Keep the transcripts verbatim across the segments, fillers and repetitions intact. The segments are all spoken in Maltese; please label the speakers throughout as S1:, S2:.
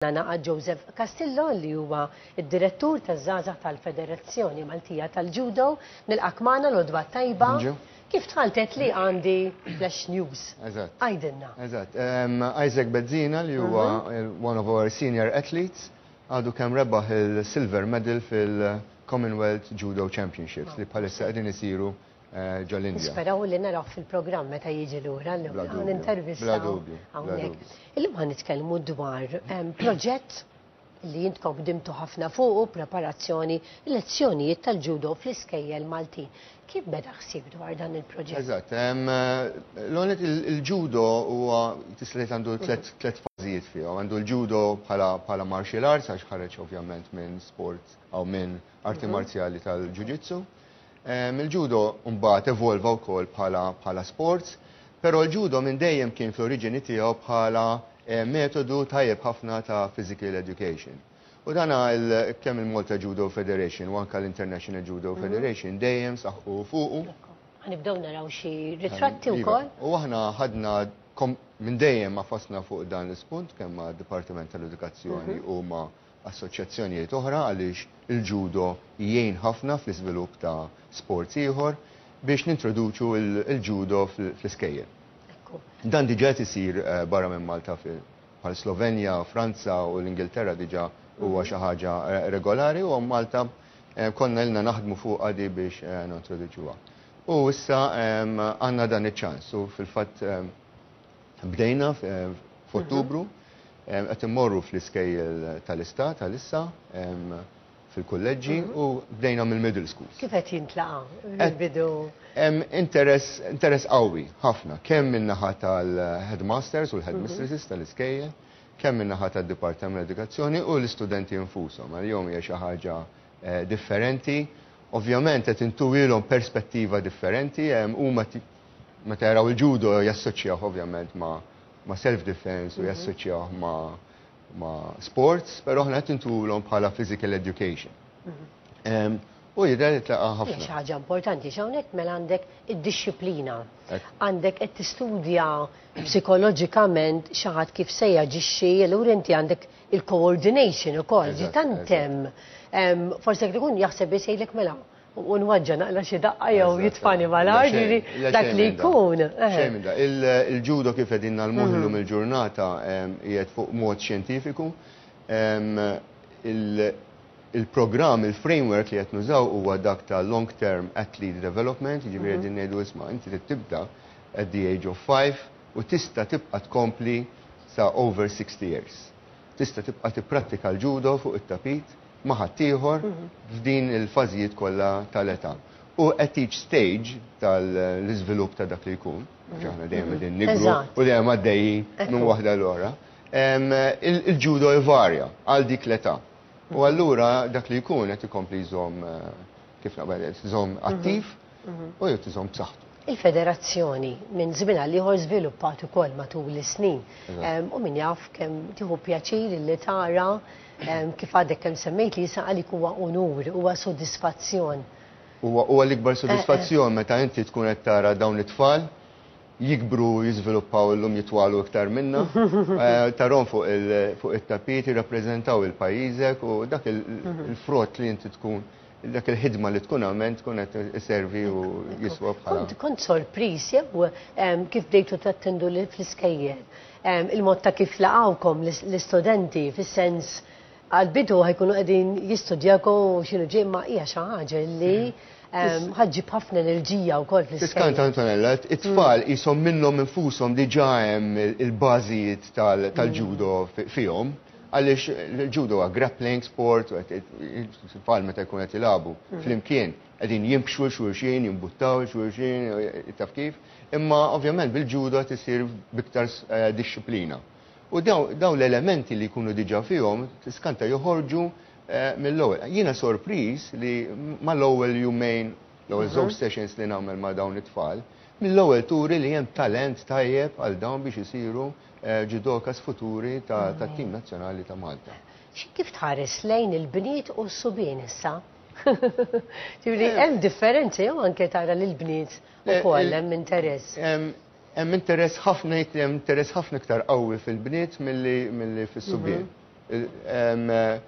S1: Naqgħad Joseph Castillo, li huwa id-direttur taż-żgħażagħ tal-Federazzjoni Maltija tal-Judo. Nilqgħek magħna, l-għodwa t-tajba. Kif tħaltet li għandi flash news.
S2: Eżatt.
S1: Għidilna.
S2: Eżatt. Um, Isaac Bezzina, li huwa mhm. one of our senior athletes, għadu kemm rebaħ il-silver medal fil-Commonwealth Judo Championships li bħalissa qegħdin isiru eh, ġol-Indja.
S1: Nisperaw li naraw fil-programm meta jiġi lura
S2: Bla dubju.
S1: Intervista.
S2: Bla dubju, bla
S1: hawnhekk.
S2: dubju.
S1: Illum ħa nitkellmu dwar em, proġett li intkom ħdimtu ħafna fuqu, preparazzjoni, lezzjonijiet tal-judo fl-iskejjel Maltin. Kif beda ħsieb dwar dan il-proġett?
S2: Eżatt. em, L-għonet il-judo huwa tista' tgħid għandu tlet tlet fażijiet fihom. Għandu l-judo bħala bħala martial arts, għax ħareġ ovvjament minn sport jew minn arti marzjali tal-jiu-jitsu. Em, Il-judo mbagħad evolva wkoll bħala bħala sports, però l-judo minn dejjem kien fl-oriġini tiegħu bħala eh, metodu tajjeb ħafna ta' physical education. U dana il- kemm il-Malta Judo Federation u anka l-International Judo Federation dejjem saħqu fuqu.
S1: Ħa nibdew naraw xi ritratti
S2: Iva.
S1: wkoll.
S2: U aħna ħadna kom- minn dejjem ma fasna fuq dan l-ispunt kemm ma' Dipartiment tal-Edukazzjoni u ma' assoċjazzjonijiet oħra, għaliex il-judo jgħin ħafna fl-iżvilupp ta' sports ieħor, biex nintroduċu il- il-judo fl- fl-iskejjel.
S1: Ekku.
S2: Dan diġà qed isir eh, barra minn Malta, fil bħal Slovenja, Franza u l-Ingilterra diġà huwa xi ħaġa eh, regolari, u Malta eh, konna ilna naħdmu fuq għadi biex eh, nintroduċuha. U issa em, għandna dan iċ-ċans u fil-fatt em, bdejna f- eh, f'Ottubru, em, qed immorru fl-iskejjel tal-istat għalissa, em, fil-kulleġġi, u bdejna mill-middle schools.
S1: Kif qed jintlaqa'
S2: Qed-
S1: bidu?
S2: Hemm interess interess qawwi ħafna, kemm min-naħa tal-headmasters u l-headmistresses tal-iskejjel, kemm min-naħa tad-Dipartiment tal-Edukazzjoni u l-istudenti infushom. Għalihom hija xi ħaġa eh, differenti. Ovvjament qed intuhilhom perspettiva differenti, huma meta jaraw il-judo jassoċjaw ovvjament ma' ma' self-defense u jassoċjaw ma' ma' sports, però aħna qed intuhulhom bħala physical education. Em, U jidher li tlaqa'
S1: Hija
S2: ħafna.
S1: xi ħaġa importanti x'hawnhekk mela għandek id-dixxiplina.
S2: Ekku.
S1: Għandek qed tistudja psikoloġikament xi ħadd kif se jaġixxi, allura inti għandek il-coordination ukoll, ġi
S2: Eżatt,
S1: tant hemm. Em, Forsi jekk ikun jaħseb biss jgħidlek mela u nwaġġa naqla xi daqqa jew
S2: Eżatt,
S1: jitfani
S2: eżatt.
S1: mal-art,
S2: Le xejn,
S1: ġifieri
S2: le
S1: dak
S2: xejn
S1: li
S2: minn da.
S1: jkun. eh.
S2: Xejn minn da. Il- Il-judo kif qegħdin ngħallmuh illum il-ġurnata em, qiegħed fuq mod xjentifiku. Em, il- Il-programm, il-framework li qed nużaw huwa dak ta' long term athlete development, jiġifieri qegħdin ngħidu, isma', inti trid tibda at the age of five u tista' tibqa' tkompli sa over sixty years. Tista' tibqa' tipprattika l-judo fuq it-tapit ma' ħaddieħor f'din il-fażijiet kollha tal-età. U at each stage tal-iżvilupp ta' dak li jkun, għax aħna dejjem qegħdin nikbru
S1: Eżatt.
S2: u dejjem għaddejjin minn
S1: Ekku.
S2: waħda l-oħra, em, il- il-judo jvarja għal dik l-età. U allura dak li jkun qed ikompli jżomm eh, kif naqbel, jżomm attiv u jrid iżomm b'saħħtu.
S1: Il-federazzjoni minn żmien għal ieħor żviluppat ukoll matul is-snin.
S2: Eżatt.
S1: Em, U min jaf kemm tieħu pjaċir li tara em, kif għadek kemm semmejt li jisa għalik huwa unur, huwa sodisfazzjon.
S2: Huwa huwa l-ikbar sodisfazzjon meta inti tkun qed tara dawn it-tfal jikbru, jiżviluppaw, illum jitwalu iktar minna, eh, tarahom fuq il- fuq it-tapit jirrappreżentaw il-pajjiżek u dak il- il-frott li inti tkun, dak il-ħidma li tkun għamilt tkun qed iservi u jiswa bħala.
S1: Kont kont sorpriż jew em, kif bdejtu tattendu li fl-iskejjel? Em, Il-mod ta' kif laqawkom l- l-istudenti, fis-sens għal-bidu ħa jkunu qegħdin jistudjakom u x'inhu ġej, ma hija xi ħaġa li em, ħa ġġib ħafna enerġija wkoll
S2: Tiskanta,
S1: fl-iskejjel.
S2: Antonella, it-tfal jisom minnhom infushom diġà hemm il-bażijiet tal- tal-judo fi- fihom, għaliex il-judo huwa grappling sport, u qed- it-tfal meta jkun qed jilagħbu flimkien qegħdin jimxu xulxin, jimbuttaw xulxin, taf kif, imma ovvjament bil-judo qed isir biktar eh, dixxiplina. U daw daw l-elementi li jkunu diġà fihom, tiskanta joħorġu eh, mill-ewwel. Jiena sorpriż li mal-ewwel jumejn, l-ewwel żewġ sessions li nagħmel ma' dawn it-tfal, mill-ewwel turi li hemm talent tajjeb għal dawn biex isiru eh, judokas futuri ta' tat-tim nazzjonali ta' Malta.
S1: Xi- Kif tħares lejn il-bniet u s-subien issa? Ġifieri hemm differenzi jew anke tara lil bniet
S2: Le,
S1: ukoll
S2: il-
S1: hemm interess?
S2: Hemm hemm interess ħafna, hemm interess ħafna iktar qawwi fil-bniet milli milli fis-subien. Em, eh,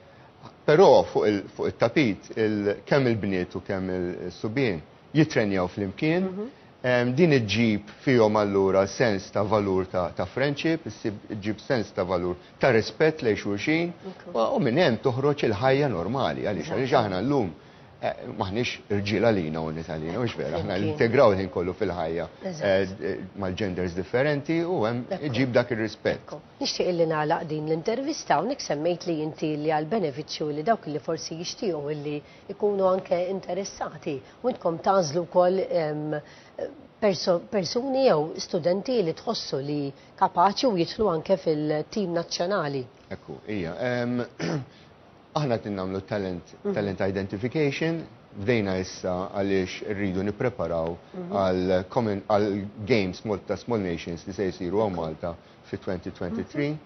S2: Però fuq il- fuq it-tapit, il- kemm il-bniet u kemm il-subien jitrenjaw flimkien. Em, Din iġġib fihom allura sens ta' valur ta' ta' friendship, issib- iġġib sens ta' valur ta' rispett lejn xulxin, u u minn hemm toħroġ il-ħajja normali, għaliex għaliex aħna llum eh, maħniex irġiel għalina u nisa għalina, mhux vera, aħna
S1: Flimkien.
S2: integraw il-ħin kollu fil-ħajja
S1: Eżatt.
S2: eh, eh, mal-genders differenti u hemm
S1: Ekku.
S2: iġib dak ir-rispett.
S1: Nixtieq illi nagħlaq din l-intervista hawnhekk semmejt li inti li għal benefiċċju li dawk li forsi jixtiequ illi ikunu anke interessati u intkom tagħżlu wkoll em, perso persuni jew studenti li tħossu li kapaċi u jidħlu anke fil-tim nazzjonali.
S2: Ekku, ija. em, Aħna qed nagħmlu talent, talent identification, bdejna issa għaliex rridu nippreparaw għal common għal Games Malta Small Nations li se jsiru hawn Malta fi elfejn u tlieta u għoxrin.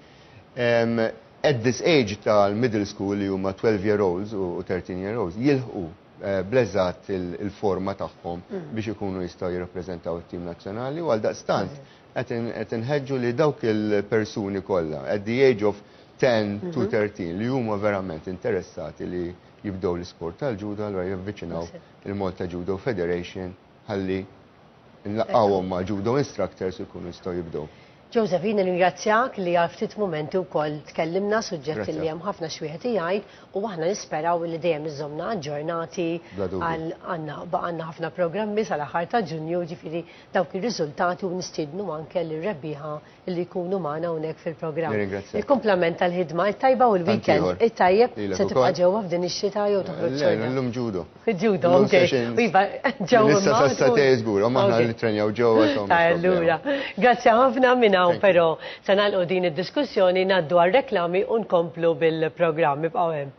S2: Em, At this age tal-middle school, li huma twelve year olds u thirteen year olds, jilħqu eh, bleżat il-forma tagħhom biex ikunu jistgħu jirrappreżentaw it-tim nazzjonali, u għal daqstant qed inħeġġu li dawk il-persuni kollha at the age of ten to thirteen li huma verament interessati li jibdew l-isport tal-ġudo, allura javviċinaw il-Malta Judo Federation ħalli nlaqqawhom ma' judo instructors u jkunu jistgħu jibdew.
S1: Joseph, jien ringrazzjak li għal ftit momenti wkoll tkellimna, suġġett
S2: Grazzi.
S1: li hemm ħafna xwieħed jgħid, u aħna nisperaw li dejjem iżomna aġġornati.
S2: Bla dubju.
S1: Għal għandna baqgħanna ħafna programmi sal-aħħar ta' Ġunju, ġifieri dawk ir-riżultati, u nistiednu anke lir-rebbieħa li jkunu magħna hawnhekk fil-programm.
S2: Nirringrazzjak.
S1: Il-kumplament tal-ħidma it-tajba u l-weekend
S2: ieħor.
S1: it-tajjeb.
S2: Lilek
S1: Se tibqa'
S2: ukoll.
S1: ġewwa f'din ix-xita jew toħroġ
S2: Le,
S1: xorta?
S2: Illum judo.
S1: Judo,
S2: Illum
S1: ok.
S2: sessions.
S1: U iva, ġewwa
S2: Issa
S1: ma
S2: sa
S1: tkun-
S2: satej żgur, u aħna
S1: Ok.
S2: li trenjaw ġewwa, so mhux
S1: Allura,
S2: problema.
S1: grazzi ħafna minn hawn.
S2: Thank you.
S1: Però se nagħlqu din id-diskussjoni, ngħaddu għal reklami u nkomplu bil-programm. Ibqgħu hemm.